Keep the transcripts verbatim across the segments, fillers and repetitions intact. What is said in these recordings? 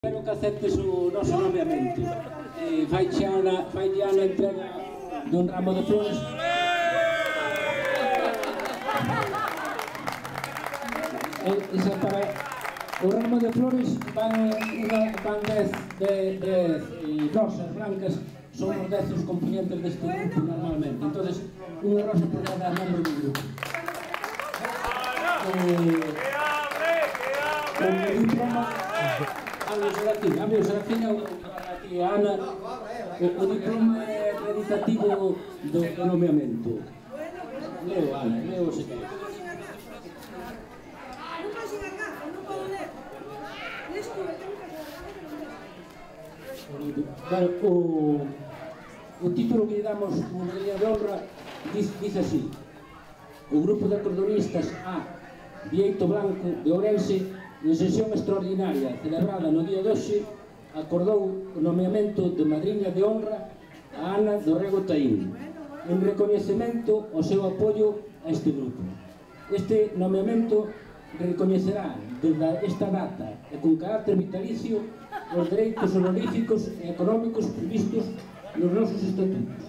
Espero que aceptes o noso nomeamento. Eh, fai Ana, fai Ana entrega dun ramo de flores. Eh, esa para o ramo de flores van, van dez, dez, dez eh, rosas blancas, son os dez os componentes deste grupo normalmente. Entonces, unha rosa por cada membro do grupo. Eh, con o diploma a mi Serafín, a mi Serafín aquí a Ana, o diploma acreditativo do nomeamento. Leo, Ana, leo se quer. Claro, o, o título que lle damos como medalla de honra dice, dice así: o grupo de acordeonistas A Bieito Blanco de Ourense, en sesión extraordinaria celebrada no día de hoxe, acordou o nomeamento de madriña de honra a Ana do Rego Taín, en recoñecemento ao seu apoio a este grupo. Este nomeamento recoñecerá desde esta data e con carácter vitalicio os dereitos honoríficos e económicos previstos nos nosos estatutos.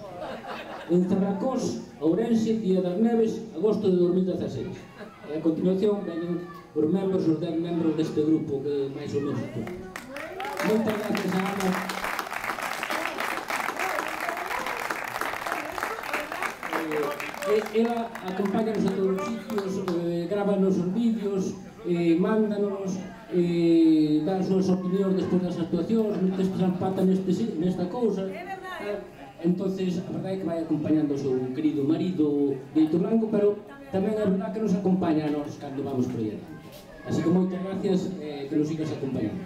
En Zarracós, Ourense, Día das Neves, agosto de dos mil dieciséis. E a continuación veñen os membros, os dez membros deste grupo que máis ou menos todo. Moitas gracias a Ana. Eh, ela acompáñanos a todos os sitios, eh, grábanos os vídeos, eh, mándanos, eh, dá as súas opinións despois das actuacións, non te empata neste, nesta cousa. Eh, entonces, a verdade é que vai acompañando o seu querido marido Bieito Blanco, pero tamén é verdade que nos acompaña a nós cando vamos por aí. Así que moitas gracias, eh, que nos sigas acompañando.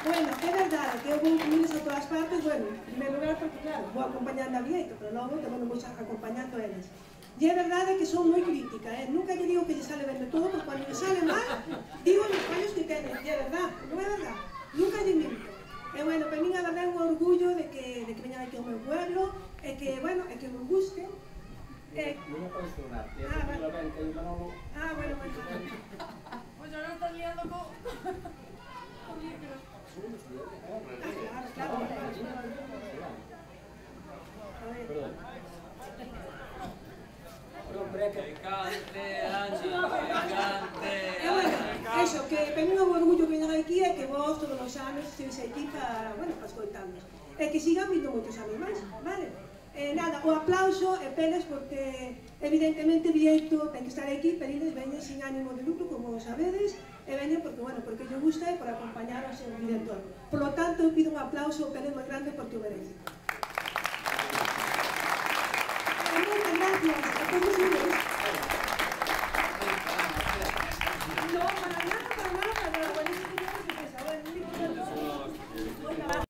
Bueno, é verdade que eu vou incluídos a todas partes, bueno, en primeiro lugar porque, claro, vou acompañando a Bieito, pero logo tamén vou acompañando a eles. E é verdade que son moi crítica, eh? Nunca lle digo que lle sale ben de todo, porque cando lle sale mal, digo os fallos que teñen, e é verdade, non é verdade? Nunca lle minto. E, bueno, para min a verdade é un orgullo de que, de que veñan aquí ao meu pueblo, e que, bueno, e que me guste. Eh... Non me podes sonar, te ah, vale. Ben, que o Manolo... Ah, bueno, bueno. Pois non estás liando co... co micro. Ah, claro, claro. A ver. Perdón. Que cante, Angie, que cante. E, bueno, eso, que para min o orgullo que veñan aquí é que vos todos os anos estéis aquí para, bueno, para escoitarnos. E que sigan vindo moitos anos máis, vale? Eh, nada, o aplauso e peles porque evidentemente Bieito ten que estar aquí, pero eles veñen sin ánimo de lucro, como sabedes, e veñen porque, bueno, porque lle gusta e por acompañar ao seu director. Por lo tanto, eu pido un aplauso peles moi grande porque o merece. E moitas gracias a todos.